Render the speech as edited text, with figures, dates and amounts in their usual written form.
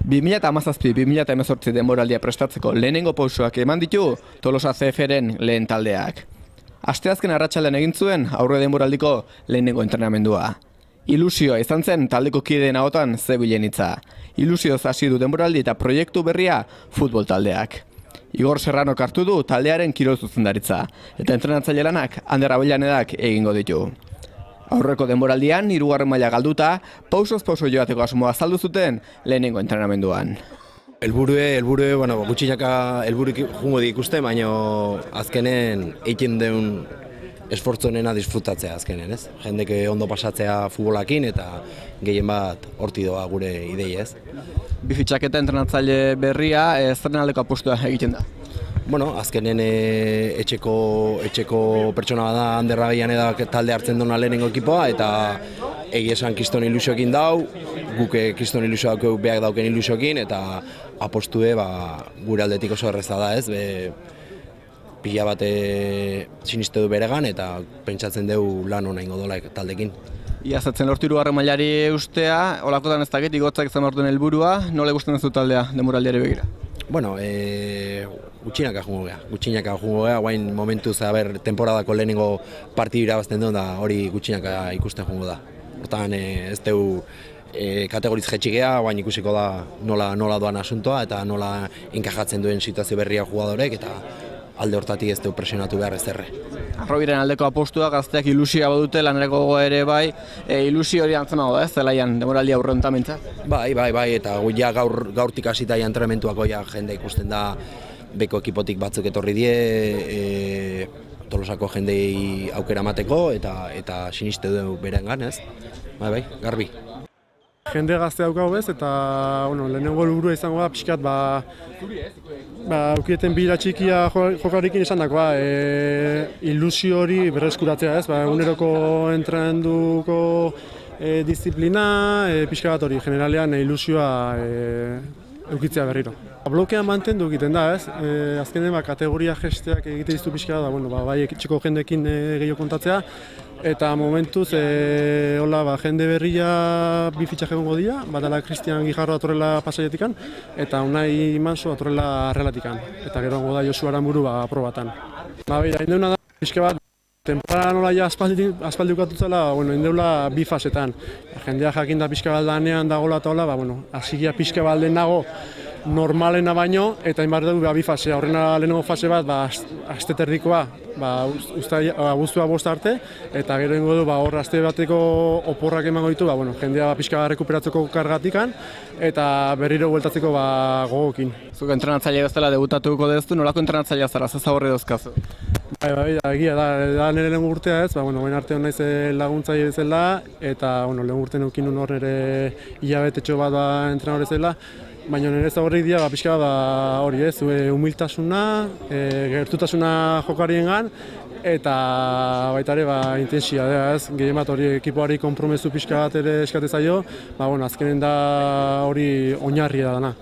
2017-2018 denboraldia prestatzeko lehenengo pausoak eman ditu Tolosa CFren lehen taldeak. Asteazken arratsaldean egin zuen aurre denboraldiko lehenengo entrenamendua. Ilusioa izan zen taldeko kideen ahotan zebilen hitza. Ilusioz hasi du denboraldi eta proiektu berria futbol taldeak. Igor Serrano hartu du taldearen kirol zuzendaritza eta entrenatzaile lanak Ander Abellanedak egingo ditu. Aurreko denboraldian, 3. maila galduta, pausoz pauso joateko asmoa azaldu zuten lehenengo entrenamenduan. Helburue, gutxinaka helburik jungo ikuste, baina azkenen egiten deun esfortzu honena disfrutatzea azkenen, ez? Jendek ondo pasatzea futbolakin eta gehien bat horti doa gure idei, ez? Bi fitxaketa entrenatzaile berria, zeren aldeko apustua egiten da? Azkenen etxeko pertsona bada Ander Abellanedak talde hartzen duna lehenengo ekipoa eta egia esan kriston ilusioekin dau, guk kriston ilusioak behar dauken ilusioekin eta apostue gure aldetik oso erreza da, ez? Pila bat siniste du beregan eta pentsatzen dugu lan hona ingo dola taldekin. Iazatzen lortu 3. mailari ustea, olakotan ez dakit, igotzak izan orduen helburua, nola gustatzen ez du taldea denboraldiari begira? Gutxinaka jungo gea, guain momentuz temporadako lehenengo partidu irabazten duen da hori gutxinaka ikusten jungo da. Hortan ez dugu kategoriz jetxigea, guain ikusiko da nola doan asuntoa eta nola enkajatzen duen situazio berria jugadorek eta alde hortatik ez dugu presionatu behar ez erre. Arrobiren aldeko apostua, gazteak ilusioa badute, lanerako gogoa ere bai, ilusio hori antzemago da ez, zelaian demoraldia aurreuntan mintzat? Bai, eta gaurtik hasita entrenamentuako jende ikusten da beko ekipotik batzuk etorri die, Tolosako jendei aukera mateko eta siniste du berengan, ez? Bai, garbi. Jende gazte daukagu ez, eta lehenengo helburua izango da pixkat aukieten bira txikia jokarekin izan dakoa, ilusio hori berreskuratzea ez, eguneroko entrenamenduko disiplina, pixka bat hori, generalean ilusioa eukitzea berriro. Blokean mantendu egiten da ez, azkenen kategoria gesteak egite dizu pixka da, bai etxeko jendekin gehiago kontatzea, eta momentuz jende berria bi fitxak egongo dira, batala Cristian Guijarro atorrela Pasailetikan eta Unai Manso atorrela Arrelatikan, eta gero egongo da Josu Aranburu aprobatan. Indeuna da pixka bat, temporada nola aspaldi ukatutzela, indeula bi fasetan. Jendea jakinda pixka bat danean dagoela eta hola, hasigia pixka bat nago normalena baino, eta inbar dugu bi fasea. Horrena lehenengo fase bat, aste terdikoa, abuztua 5 arte, eta gero ingo du, hor aste bateko oporrak emango ditu, jendea pixka rekuperatzeko kargatikan, eta berriro bueltatzeko gogokin. Zuk entrenatzaile bezala debutatuko deztu, nolako entrenatzailea zara, zazaborri dauzkazu? Egia da nire lehen urtea ez, baina arte hon naiz laguntzaile bezala, eta lehen urtean eukin hor nire hilabetetxo bat entrenadore zela, baina nire zaborrik dira pixka hori ez, humiltasuna, gertutasuna jokariengan, eta baita ere intensia ez, gehien bat hori ekipoari konpromezu pixka bat ere eskate zaio, azkenen da hori oinarria dana.